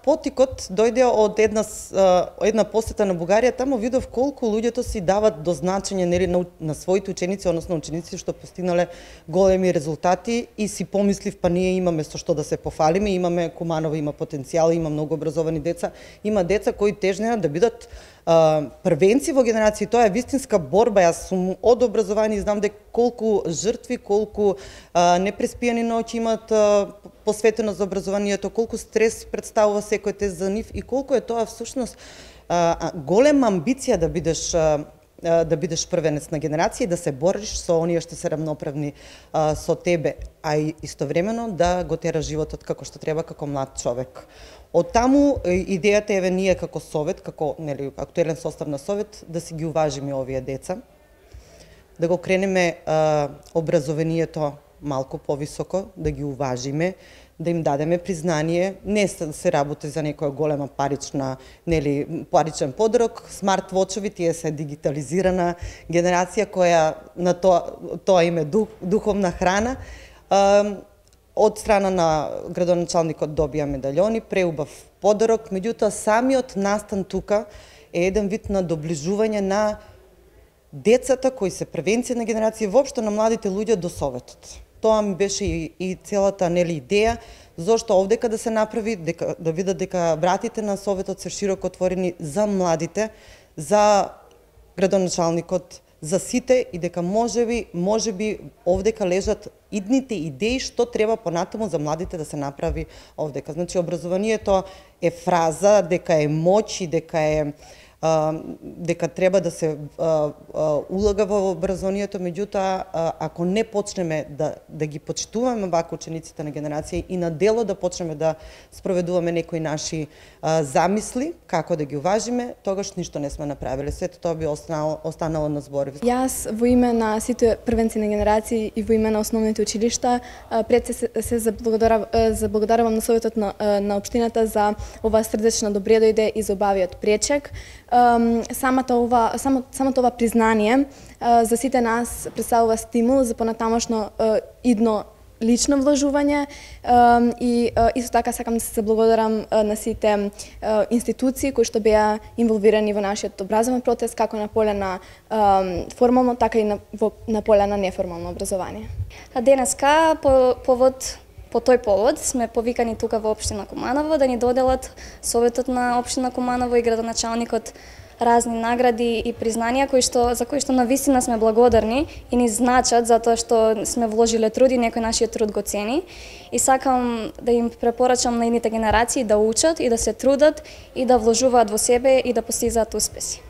потикот дојде од една посета на Бугарија, таму видов колку луѓето си дават до значење нели на своите ученици, односно ученици што постигнале големи резултати и си помислив па ние имаме со што да се пофалиме, имаме Куманово има потенцијал, има многу образовани деца, има деца кои тежнеа да бидат првенци во генерација. Тоа е вистинска борба. Јас сум од образование и знам дека колку жртви, колку непреспиени ноќи имат посветено за образованието, колку стрес представува секој тест за нив и колку е тоа всушност голема амбиција да бидеш првенец на генерација и да се бориш со оние што се рамноправни со тебе, а и истовремено да го тераш животот како што треба како млад човек. Од таму идејата е ние како совет, како нели актуелен состав на совет, да си ги уважиме овие деца, да го кренеме образованието малку повисоко, да ги уважиме, да им дадеме признание, не се работи за некоја голема паричен подарок, смарт-вочови, тие се дигитализирана генерација која на тоа име духовна храна. Од страна на градоначалникот добија медаљони, преубав подарок, меѓутоа самиот настан тука е еден вид на доближување на децата кои се превенција на генерација, воопшто на младите луѓе до советот. Тоа ми беше и целата идеја, зошто овдека да се направи, да видат дека вратите на советот се широко отворени за младите, за градоначалникот, за сите и дека можеби овдека лежат идните идеи што треба понатаму за младите да се направи овдека. Значи образованието е фраза, дека е моќ и дека треба да се улага во образованието, меѓутоа ако не почнеме да ги почитуваме вака учениците на генерација и на дело да почнеме да спроведуваме некои наши замисли како да ги уважиме, тогаш ништо не сме направиле. Сето тоа би останало на зборови. Јас во име на сите првенци на генерации и во име на основните училишта пред се заблагодарувам на советот на општината за оваа срдечна добредојде и за убавиот пречек. Самото ова признание за сите нас представува стимул за понатамошно идно лично вложување и исто така сакам да се заблагодарам на сите институции кои што беа инволвирани во нашиот образовен процес, како на поле на формално, така и на поле на неформално образование. Денеска по тој повод сме повикани тука во општина Куманово да ни доделат советот на општина Куманово и градоначалникот разни награди и признанија за кои што навистина сме благодарни и ни значат затоа што сме вложиле труд и некој нашиот труд го цени. И сакам да им препорачам на идните генерации да учат и да се трудат и да вложуваат во себе и да постизаат успеси.